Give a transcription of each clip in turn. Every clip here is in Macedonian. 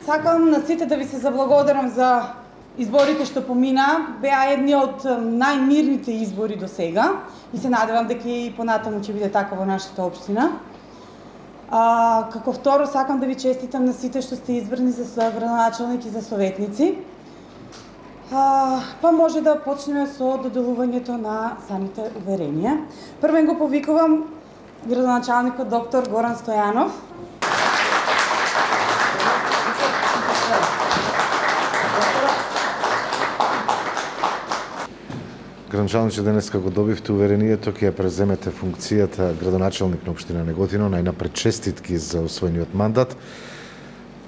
Сакам на сите да ви се заблагодарам за изборите што помина. Беа едни од најмирните избори до сега и се надевам дека и понатаму ќе биде така во нашата општина. Како второ, сакам да ви честитам на сите што сте избрани за градоначалник и за советници. Па може да почнеме со доделувањето на самите уверенија. Првен го повикувам градоначалникот доктор Горан Стојанов. Градоначалниче, денеска го добивте уверението, ќе ја преземете функцијата градоначалник на општина Неготино. Најнапред честитки за освоениот мандат.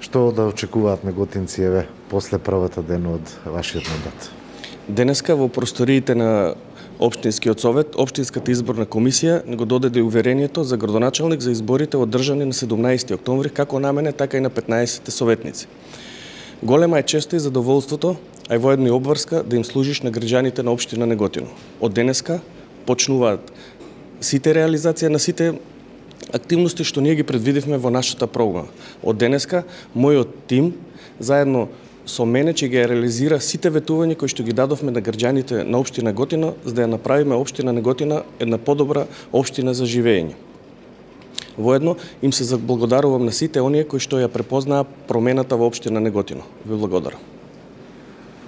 Што да очекуваат неготинци после првата ден од вашиот мандат? Денеска во просториите на Општинскиот совет, Општинската изборна комисија го додаде уверението за градоначалник за изборите одржани на 17 октомври, како на мене, така и на 15 советници. Голема е честа и задоволството, а и воедно и обврска да им служиш на граѓаните на општина Неготино. Од денеска почнуваат сите реализација на сите активности што ние ги предвидивме во нашата програма. Од денеска мојот тим заедно со мене ќе ги реализира сите ветувања кои што ги дадовме на граѓаните на општина Неготино, за да ја направиме општина Неготино една подобра општина за живење. Воедно им се заблагодарувам на сите оние кои што ја препознаа промената во општина Неготино. Ви благодарам.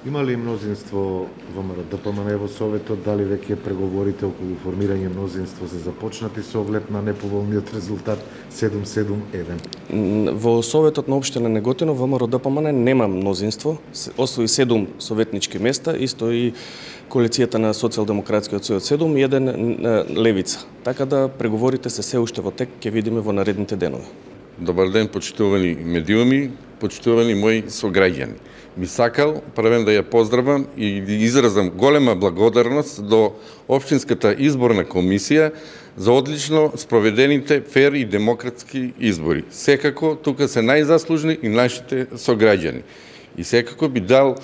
Има ли мнозинство ВМРО ДПМН во Советот? Дали веќе преговорите околу формирање мнозинство се започнати со оглед на неповолниот резултат 7-7-1? Во Советот на општина Неготино ВМРО ДПМН нема мнозинство, освои 7 советнички места, исто и коалицијата на Социјалдемократскиот сојуз 7 и 1 левица. Така да преговорите се уште во тек, ќе видиме во наредните денови. Добар ден, почитувани медиуми, почитувани мои сограѓани. Би сакал првен да ја поздравам и да изразам голема благодарност до Општинската изборна комисија за одлично спроведените фер и демократски избори. Секако тука се најзаслужни и нашите сограѓани. И секако би дал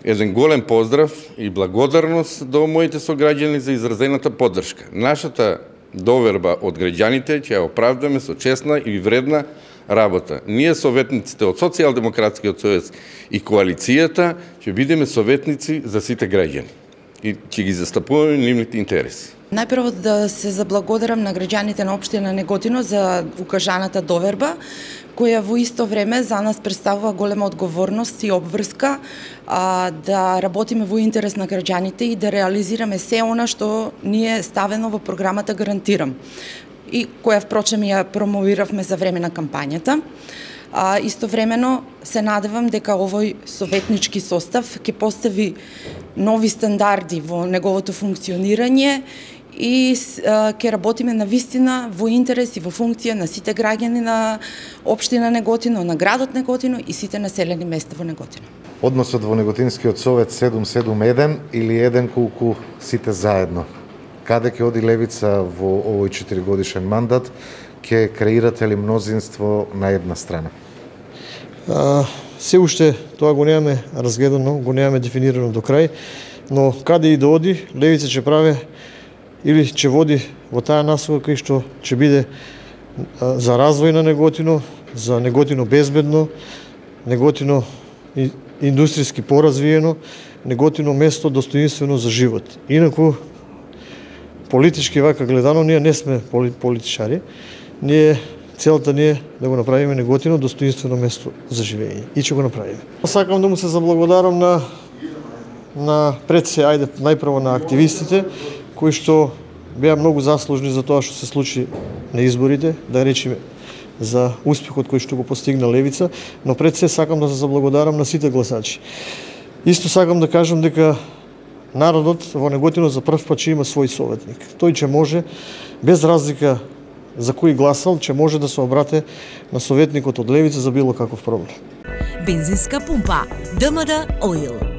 еден голем поздрав и благодарност до моите сограѓани за изразената поддршка. Нашата доверба од граѓаните ќе ја оправдаме со честна и вредна работа. Ние советниците од Социјалдемократскиот сојуз и коалицијата ќе бидеме советници за сите граѓани и ќе ги застапуваме нивните интереси. Најпрво да се заблагодарам на граѓаните на општина Неготино за укажаната доверба, која во исто време за нас представува голема одговорност и обврска да работиме во интерес на граѓаните и да реализираме се она што ни е ставено во програмата Гарантирам и која впрочем ја промовиравме за време на кампањата. Истовремено се надевам дека овој советнички состав ќе постави нови стандарди во неговото функционирање и ќе работиме на вистина во интерес и во функција на сите граѓани на општина Неготино, на градот Неготино и сите населени места во Неготино. Односот во Неготинскиот совет 7-7-1 или 1 колку сите заедно? Каде ќе оди левица во овој 4-годишен мандат? Ќе креирате ли мнозинство на една страна? Се уште тоа го немаме разгледано, го немаме дефинирано до крај, но каде и да оди, левица ќе прави или ќе води во таа насока кај што ќе биде за развој на Неготино, за Неготино безбедно, Неготино индустријски поразвиено, Неготино место достоинствено за живот. Инаку политички вака гледано, ние не сме политичари, целта ни е да го направиме Неготино достоинствено место за живење и ќе го направиме. Сакам да му се заблагодарам на пред се, најпрво на активистите, кои што беа многу заслужни за тоа што се случи на изборите, да речеме за успехот кој што го постигна левица, но пред се сакам да се заблагодарам на сите гласачи. Исто сакам да кажам дека народот во Неготино за прв пат ќе има свој советник. Тој ќе може, без разлика за кој гласал, ќе може да се обрате на советникот од левица за било каков проблем. Бензинска пумпа ДМД Оил.